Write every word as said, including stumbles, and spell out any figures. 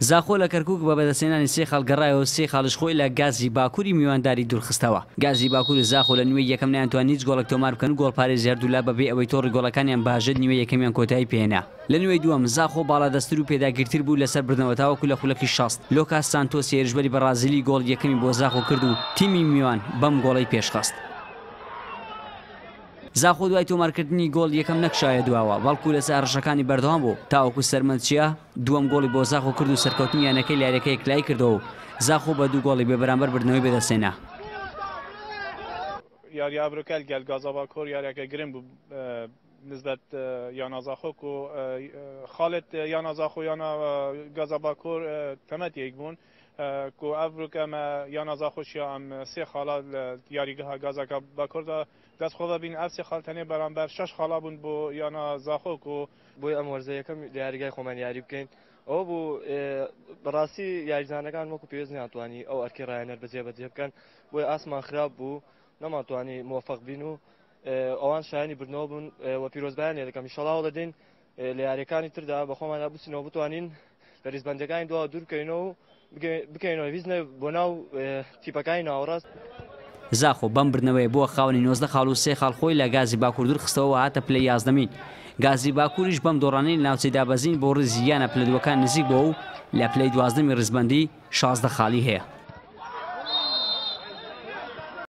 زاخۆ لە کەرکوک بە بەدەستهێنانی سێ خاڵ گەڕایەوە و سێ خاڵیش خۆی لە گازی باکووری میوانداری دوورخستەوە. گازی باکوور و زاخۆ لە نیوەی یەکەم نەیانتوانی هیچ گۆڵێک تۆمار بکەن و گۆڵپارێزی هەردوولا بەبێ ئەوەی تۆڕی گۆڵەکانیان بهاژێت نیوەی یەکەمیان کۆتایی پێهێنا. لە نیوەی دووەم زاخۆ باڵادەستتر و پێداگیرتر بوو لەسەر بردنەوە تاوەکو لە خولەکی شەست لۆکاس سانتۆس هێرشبەری بەڕازیلی گۆڵی یەکەمی بۆ زاخۆ کرد و تیمی میوان بەم گۆڵەی پێشخست. زاخۆ دوای تۆمارکردنی گۆڵ یەکەم نەکشایە دواوە، بەڵکو لەسەر هەڕەشەکانی بەردەوام بوو تاوەکو سەرمەند چیا دووەم گۆڵی بۆ زاخۆ کرد و سەرکەوتنی یانەکەی لە یاریەکە یەکلایی کردەوە و زاخۆ بە دوو گۆڵی بێبەرامبەر بردنەوەی بەدەستهێنا. یاری ئەڤرۆکە گەل گازا باکۆر یاریەکە گرنگ بوو نسبەت یانا زاخۆ و خاڵت یانا زاخۆ یانا گازا باکۆر تەمەت یەک بوون کو ئەڤرۆکە مە یانا زاخۆشیا ئەم سێ خاڵا یاریگەها گازاکە باکۆردا دەست خۆ بین ئەف سێ خاڵ تەنێ بەرامبەر شەش خاڵا بوون بۆ یانا زاخۆ و بۆی ئەم وەرزە یەکەم لە یاریگای خۆمان یاری بکەین. ئەوە بوو بەڕاستی یاریزانەکان وەکو پێویست ناتوانی ئەو ئەرکی ڕایەنەر بەجێ بەجێ بکەن، بۆیە ئاسمان خراپ بوو نەمانتوانی موفق بین و ئەوان شایانی بردنەوە بوون و پیرۆزبایان لێ دەکەم. ئینشەڵا هەوڵ دەدەین لە یاریەکانی تردا بە خۆماندا بچینەوە بتوانین لە ریزبەندەکانی دواوە دوور بکەینەوە و بکەینەوە ویزنە بۆ ناو تیپەکانی ناوەڕاست. زاخۆ بەم بردنەوەی بووە خاوەنی نۆزدە خاڵ و سێ خاڵ خۆی لە گازی باکوور دوورخستەوە و هاتە پلەی یازدەمین. گازی باکووریش بەم دۆڕانەی لە ناوچەی دابەزین بۆ ڕیزی یانە پلە دووەکان نزیک بووە و لە پلەی دوازدەمی ڕیزبەندی شازدە خاڵی هەیە.